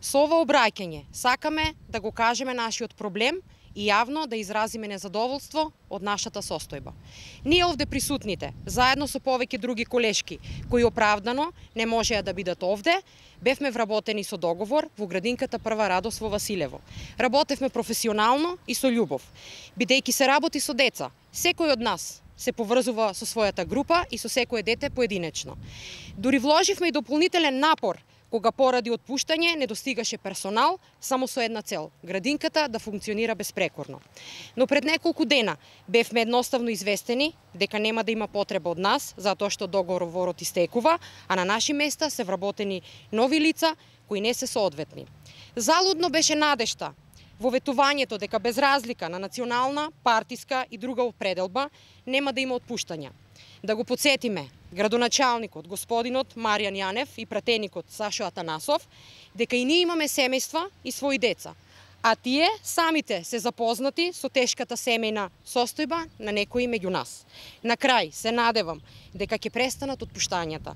Со ова обраќање сакаме да го кажеме нашиот проблем и јавно да изразиме незадоволство од нашата состојба. Ние овде присутните, заедно со повеќе други колешки, кои оправдано не можеа да бидат овде, бевме вработени со договор во градинката Прва радост во Василево. Работевме професионално и со љубов. Бидејќи се работи со деца, секој од нас се поврзува со својата група и со секое дете поединечно. Дури вложивме и дополнителен напор кога поради отпуштање не достигаше персонал само со една цел – градинката да функционира безпрекорно. Но пред неколку дена бевме едноставно известени дека нема да има потреба од нас, затоа што договорот истекува, а на наши места се вработени нови лица кои не се соодветни. Залудно беше надежта во ветувањето дека без разлика на национална, партиска и друга определба нема да има отпуштања. Да го подсетиме градоначалникот господинот Маријан Јанев и пратеникот Сашо Атанасов дека и ние имаме семејства и своји деца, а тие самите се запознати со тешката семејна состојба на некои меѓу нас. На крај се надевам дека ќе престанат отпуштањата,